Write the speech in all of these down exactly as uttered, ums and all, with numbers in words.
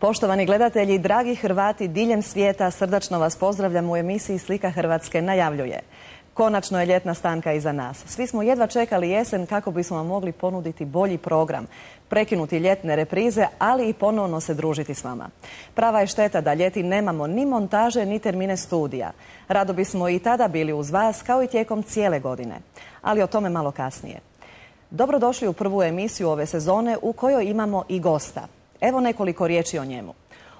Poštovani gledatelji, dragi Hrvati diljem svijeta, srdačno vas pozdravljam u emisiji Slika Hrvatske najavljuje. Konačno je ljetna stanka iza nas. Svi smo jedva čekali jesen kako bismo vam mogli ponuditi bolji program, prekinuti ljetne reprize, ali i ponovno se družiti s vama. Prava je šteta da ljeti nemamo ni montaže, ni termine studija. Rado bismo i tada bili uz vas, kao i tijekom cijele godine. Ali o tome malo kasnije. Dobrodošli u prvu emisiju ove sezone u kojoj imamo i gosta. Evo nekoliko riječi o njemu.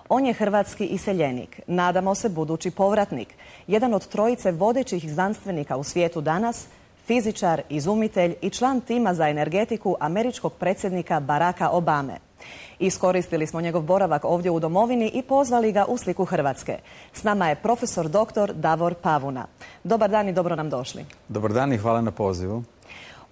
On je hrvatski iseljenik, nadamo se budući povratnik, jedan od trojice vodećih znanstvenika u svijetu danas, fizičar, izumitelj i član tima za energetiku američkog predsjednika Baracka Obame. Iskoristili smo njegov boravak ovdje u domovini i pozvali ga u Sliku Hrvatske. S nama je profesor doktor Davor Pavuna. Dobar dan i dobro nam došli. Dobar dan i hvala na pozivu.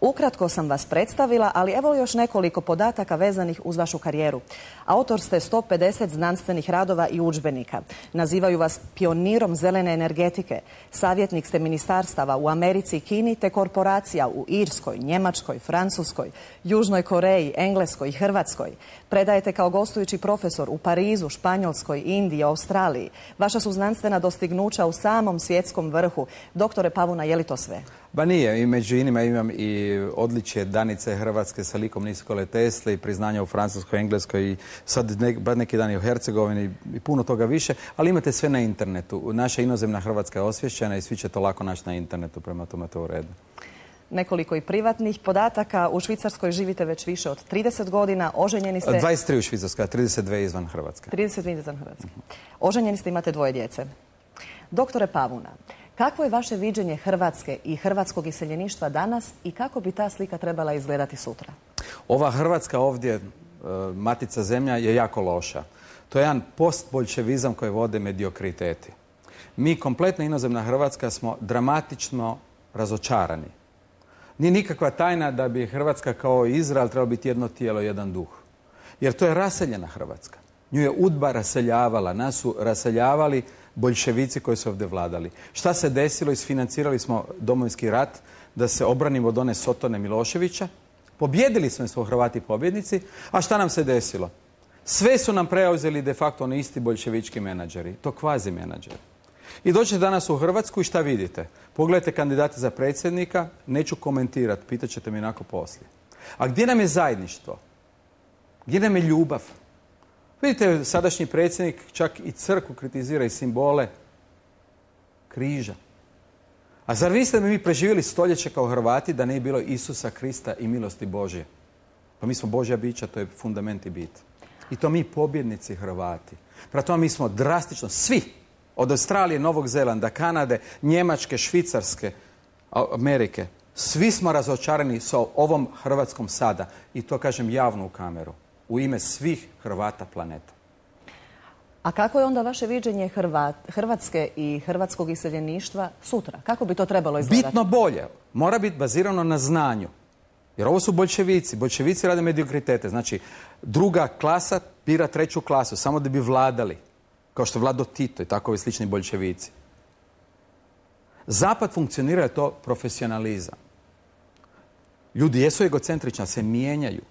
Ukratko sam vas predstavila, ali evo još nekoliko podataka vezanih uz vašu karijeru. Autor ste sto pedeset znanstvenih radova i udžbenika. Nazivaju vas pionirom zelene energetike. Savjetnik ste ministarstava u Americi i Kini te korporacija u Irskoj, Njemačkoj, Francuskoj, Južnoj Koreji, Engleskoj i Hrvatskoj. Predajete kao gostujući profesor u Parizu, Španjolskoj, Indiji, Australiji. Vaša su znanstvena dostignuća u samom svjetskom vrhu. Doktore Pavuna, je li to sve? Ba nije, i među inima imam i odličje Danice Hrvatske sa likom Nikole Tesle i priznanja u Francuskoj, Engleskoj i sad ne, neki dan i u Hercegovini i puno toga više, ali imate sve na internetu. Naša inozemna Hrvatska je osvješćena i svi će to lako naći na internetu, prema tome to u redu. Nekoliko i privatnih podataka. U Švicarskoj živite već više od trideset godina, oženjeni ste... dvadeset tri u Švicarskoj, a trideset dvije izvan Hrvatske. trideset dvije izvan Hrvatske. Oženjeni ste, imate dvoje djece. Doktore Pavuna, kakvo je vaše viđenje Hrvatske i hrvatskog iseljeništva danas i kako bi ta slika trebala izgledati sutra? Ova Hrvatska ovdje, matica zemlja, je jako loša. To je jedan postbolševizam koji vode mediokriteti. Mi, kompletna inozemna Hrvatska, smo dramatično razočarani. Nije nikakva tajna da bi Hrvatska kao Izrael trebala biti jedno tijelo, jedan duh. Jer to je raseljena Hrvatska. Nju je UDBA raseljavala, nas su raseljavali boljševici koji su ovdje vladali. Šta se desilo? Isfinancirali smo Domovinski rat da se obranimo od one Sotone Miloševića. Pobjedili smo, smo Hrvati pobjednici. A šta nam se desilo? Sve su nam preuzeli de facto oni isti boljševički menadžeri. To kvazi menadžeri. I dođete danas u Hrvatsku i šta vidite? Pogledajte kandidate za predsjednika, neću komentirati, pitat ćete mi onako poslije. A gdje nam je zajedništvo? Gdje nam je ljubav? Vidite, sadašnji predsjednik čak i crkvu kritizira i simbole križa. A zar vi ste mi preživjeli stoljeće kao Hrvati da ne je bilo Isusa Krista i milosti Božje? Pa mi smo Božja bića, to je fundament i bit. I to mi pobjednici Hrvati. Prema tome mi smo drastično, svi, od Australije, Novog Zelanda, Kanade, Njemačke, Švicarske, Amerike, svi smo razočarani sa ovom Hrvatskom sada. I to kažem javno u kameru. U ime svih Hrvata planeta. A kako je onda vaše viđenje Hrvat, Hrvatske i hrvatskog iseljeništva sutra? Kako bi to trebalo izgledati? Bitno bolje. Mora biti bazirano na znanju. Jer ovo su boljševici. Boljševici rade mediokritete. Znači, druga klasa bira treću klasu, samo da bi vladali. Kao što je vladao Tito i takovi slični boljševici. Zapad funkcionira je to profesionalizam. Ljudi jesu egocentrični, se mijenjaju.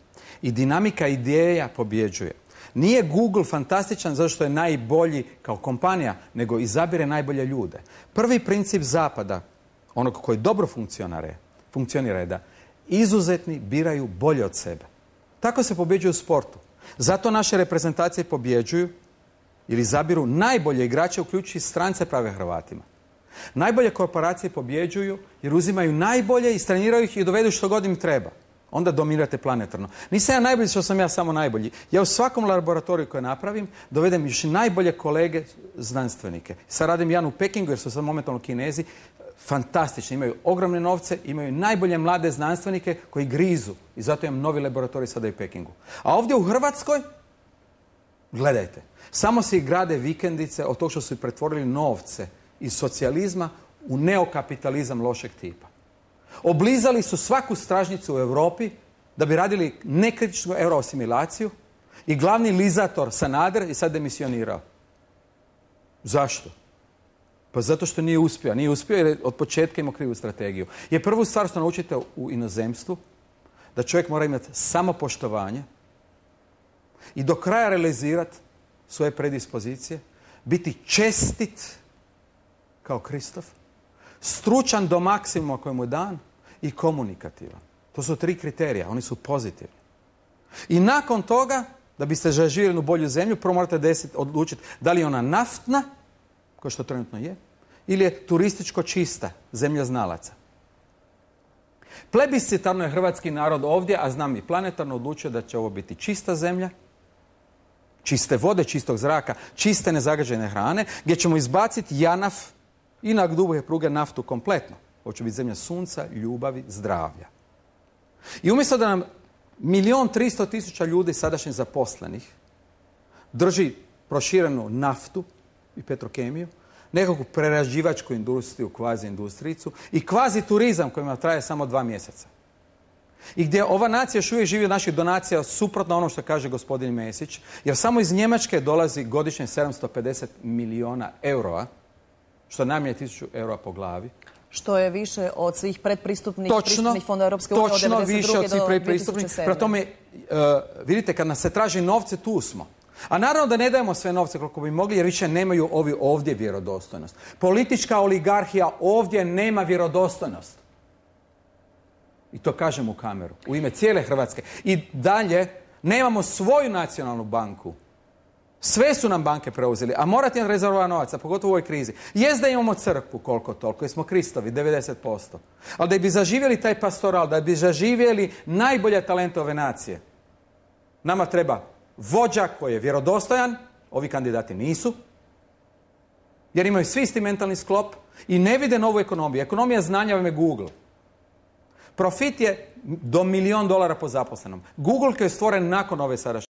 I dinamika ideja pobjeđuje. Nije Google fantastičan zato što je najbolji kao kompanija, nego izabire najbolje ljude. Prvi princip Zapada, onog koji dobro funkcionira, funkcionira je da izuzetni biraju bolje od sebe. Tako se pobjeđuje u sportu. Zato naše reprezentacije pobjeđuju ili izabiru najbolje igrače, uključujući strance prave Hrvatima. Najbolje korporacije pobjeđuju jer uzimaju najbolje, istreniraju ih i dovedu što god im treba. Onda dominirate planetarno. Nisam ja najbolji što sam ja samo najbolji. Ja u svakom laboratoriju koje napravim dovedem još najbolje kolege znanstvenike. Sad radim jedan u Pekingu jer su sad momentalno Kinezi fantastični. Imaju ogromne novce, imaju najbolje mlade znanstvenike koji grizu. I zato imam novi laboratorij sada i u Pekingu. A ovdje u Hrvatskoj, gledajte, samo se grade vikendice od tog što su pretvorili novce iz socijalizma u neokapitalizam lošeg tipa. Oblizali su svaku stražnicu u Europi da bi radili nekritičnu euroasimilaciju i glavni lizator Sanader je sad demisionirao. Zašto? Pa zato što nije uspio. Nije uspio jer je od početka imao krivu strategiju. Je prvu stvar što naučite u inozemstvu, da čovjek mora imati samopoštovanje i do kraja realizirati svoje predispozicije, biti čestit kao Kristof, stručan do maksimuma koji mu je dan i komunikativan. To su tri kriterija, oni su pozitivni. I nakon toga, da biste živjeli u bolju zemlju, prvo morate desit, odlučiti da li je ona naftna, kao što trenutno je, ili je turističko čista, zemlja znalaca. Plebiscitarno je hrvatski narod ovdje, a znam i planetarno, odlučio da će ovo biti čista zemlja, čiste vode, čistog zraka, čiste nezagađene hrane, gdje ćemo izbaciti janaf i na duboke pruge naftu kompletno. Ovo će biti zemlja sunca, ljubavi, zdravlja. I umjesto da nam milijon tristo tisuća ljudi sadašnjih zaposlenih drži proširenu naftu i petrokemiju, nekakvu prerađivačku industriju, kvazi industrijicu i kvazi turizam kojima traje samo dva mjeseca. I gdje ova nacija još uvijek živi od naših donacija suprotno ono što kaže gospodin Mesić, jer samo iz Njemačke dolazi godišnje sedamsto pedeset milijuna eura, što najmanje tisuću eura po glavi. Što je više od svih predpristupnih točno, pristupnih fondova Europske unije od točno devedeset druge više od svih do predpristupnih. dvije tisuće sedme. Prema tome, uh, vidite, kad nas se traži novce, tu smo. A naravno da ne dajemo sve novce koliko bi mogli, jer više nemaju ovi ovdje vjerodostojnost. Politička oligarhija ovdje nema vjerodostojnost. I to kažem u kameru, u ime cijele Hrvatske. I dalje, nemamo svoju nacionalnu banku. Sve su nam banke preuzeli, a morate nam rezervovati novaca, pogotovo u ovoj krizi. Jest da imamo crkvu koliko toliko, jer smo Kristovi, devedeset posto. Ali da bi zaživjeli taj pastoral, da bi zaživjeli najbolje talente ove nacije, nama treba vođa koji je vjerodostojan, ovi kandidati nisu, jer imaju svi isti mentalni sklop i ne vide novu ekonomiju. Ekonomija znanja vam je Google. Profit je do milijon dolara po zaposlenom. Google koji je stvoren nakon ove sadašnje